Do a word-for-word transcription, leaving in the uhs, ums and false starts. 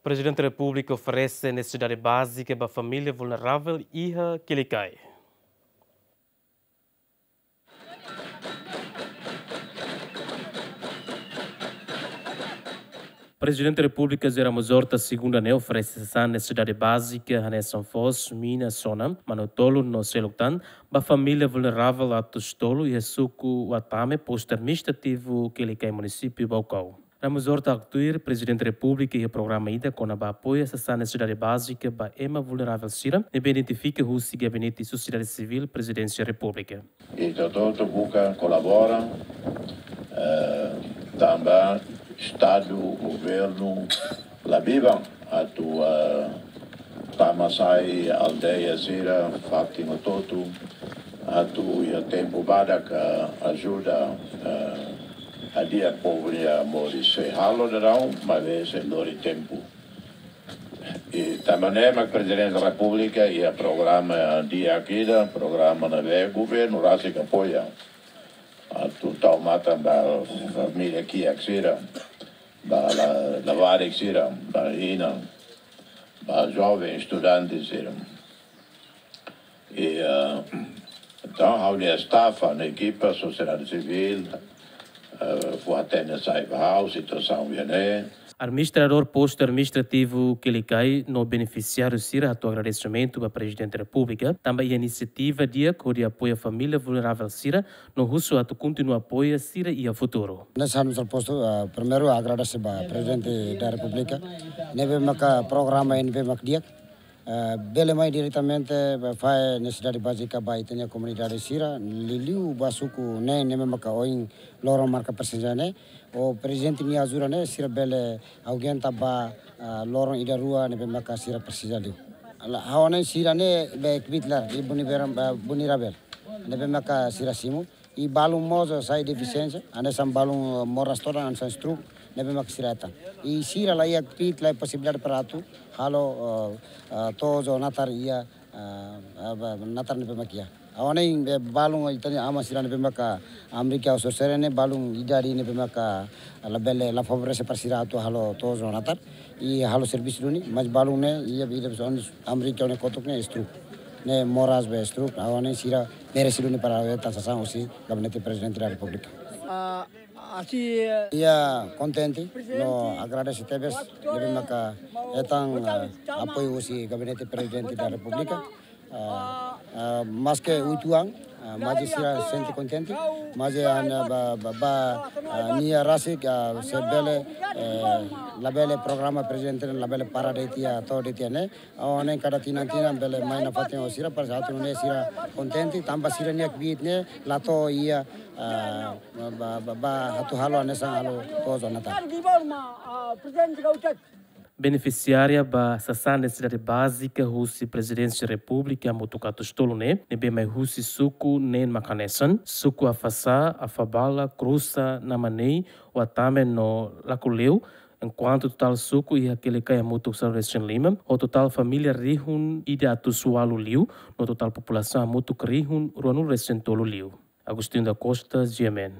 Prezidente Repúblika oferese nesesidade bázika ba família vulneravel iha Kilikai. Prezidente Repúblika José Ramos Horta segunda ne'e oferese sasán nesesidade bázika hanesan foos, mina, sona, manu-tolun no seluk tan ba família vulneravel atus tolu iha suku Watame, postu administrativu Kilikai, munisípiu Baucau. Ramos Horta haktuir Prezidente Repúblika iha programa ida kona-ba apoiu sasán nesesidade bázika ba ema vulneravel sira ne'ebé identifika husi Gabinete Sosiedade Sivíl Prezidénsia Repúblika. Ita hotu buka kolabora, eh, tanba Estadu, governu, la biban atu, eh, tama sai aldeia sira, fatin hotu-hotu, atu iha tempu badak, eh, ajuda, eh, hadi'a povu nia moris. Sei halo daudaun, maibé sei lori tempu. I tanba ne'e mak Prezidente Repúblika iha programa di'ak ida, programa ne'ebé governu rasik apoia. Atu tau matan ba família kiak sira, ba la-, labarik sira, ba inan, ba joven estudante sira. I, eh, entaun, ha'u-nia staff, ha'u-nia ekipa, sosiedade sivíl, eh, fó hatene sai ba ha'u situasaun ida-ne'e. Administradór postu administrativu Kilikai no benefisiáriu sira hato'o agradesimentu ba Prezidente Repúblika tanba iha inisiativa di'ak hodi apoia família vulneravel sira no husu atu kontinua apoia sira iha futuru. Hanesan ha'u-nia postu, eh, primeiru agradese ba Prezidente da Repúblika ne'ebé maka programa ne'ebé mak di'ak, eh, bele mai diretamente ba fahe nesesidade bázika ba ita-nia komunidade sira, liuliu ba suku ne'e ne'ebé maka ohin loron marka prezensa ne'e, ho Prezidente nia ajuda ne'e sira bele aguenta ba, eh, loron ida rua ne'ebé maka sira presiza liu. Halo, ha'u hanoin sira ne'e be kbiit laran, i vulneravel, eh, vulneravel ne'ebé maka sira simu. I balun mós sai defisiénsia, hanesan balun, eh, moras todan, hanesan stroke, ne'ebé mak sira hetan. I sira la iha kbiit, la iha posibilidade para atu halo, eh, eh, to'o natar iha, eh, eh, ba-, natar ne'ebé mak iha. Ha'u hanoin be balun ita-nia aman sira ne'ebé maka Amérika ho sorsere ne'e balun idade ne'ebé maka labele, la favorese para sira atu halo to'o natar. I halo servisu duni, mas balun ne'e, iha, iha, Amérika ne'e kotuk ne'e stroke. Ne'e moras be stroke, ha'u hanoin sira merese duni para hetan sasán husi Gabinete Prezidente da Repúblika. Ah, asi, eh, iha kontente, no agradese tebes, ne'ebé maka hetan, eh, apoiu husi Gabinete Prezidente da Repúblika. Ah, ah, maske oitu an, ah, maibé sira sente kontente, maibé, ah, ba, ba, ba, ah, nia rasik, ah, se bele, eh, labele programa Prezidente labele para de'it iha, to'o de'it iha ne'e. Ha'u hanoin kada tinan-tinan bele mai nafatin ho sira, para atu nune'e sira kontente, tanba sira-nia kbiit ne'e la to'o iha, ah, ba, ba, ba, atu halo hanesan halo to'o natar. Benefisiária ba sasán nesesidade bázika husi Prezidénsia Repúblika hamutuk atus tolu ne'e, ne'ebé mai husi suku neen mak hanesan, suku Afasá, Afabala, Krusa, Namanei, Watame no Lakuleu, enkuantu totál suku iha Kilikai hamutuk sanulu-resin-lima, ho totál família rihun ida atus ualu liu, no totál populasaun hamutuk rihun ruanulu-resin-tolu liu. Agostinho da Costa, G M N.